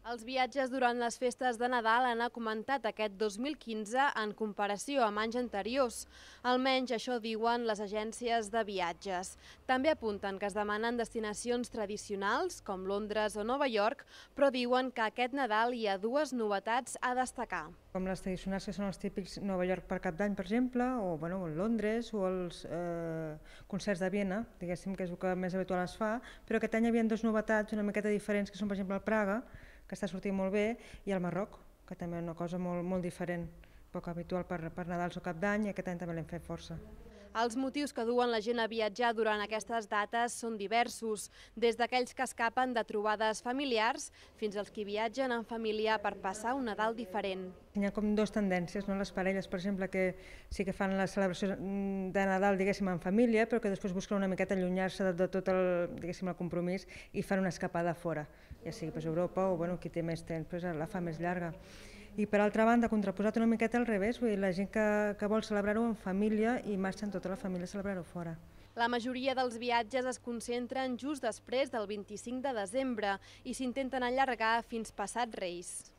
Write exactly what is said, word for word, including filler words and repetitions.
Els viatges durant les festes de Nadal han augmentat aquest dos mil quinze en comparació amb anys anteriors. Almenys això diuen les agències de viatges. També apunten que es demanen destinacions tradicionals, com Londres o Nova York, però diuen que aquest Nadal hi ha dues novetats a destacar. Com les tradicionals, que són els típics Nova York per Cap d'Any, per exemple, o bueno, Londres, o els eh, concerts de Viena, diguéssim, que és el que més habitual es fa, però aquest any hi havia dues novetats una miqueta diferents, que són, per exemple, el Praga, que està sortint molt bé, i el Marroc, que també és una cosa molt, molt diferent, poc habitual per, per Nadals o Cap d'Any, i aquest any també l'hem fet força. Els motius que duen la gent a viatjar durant aquestes dates són diversos, des d'aquells que escapen de trobades familiars fins als que viatgen en família per passar un Nadal diferent. Hi ha com dues tendències, no? Les parelles, per exemple, que sí que fan la celebració de Nadal, diguéssim, en família, però que després busquen una miqueta allunyar-se de, de tot el, diguéssim, el compromís i fan una escapada fora, ja sigui pues, Europa o bueno, qui té més temps, pues, la fa més llarga. I per altra banda, contraposat una miqueta al revés, vull dir, la gent que, que vol celebrar-ho en família i marxen tota la família a celebrar-ho fora. La majoria dels viatges es concentren just després del vint-i-cinc de desembre i s'intenten allargar fins passat Reis.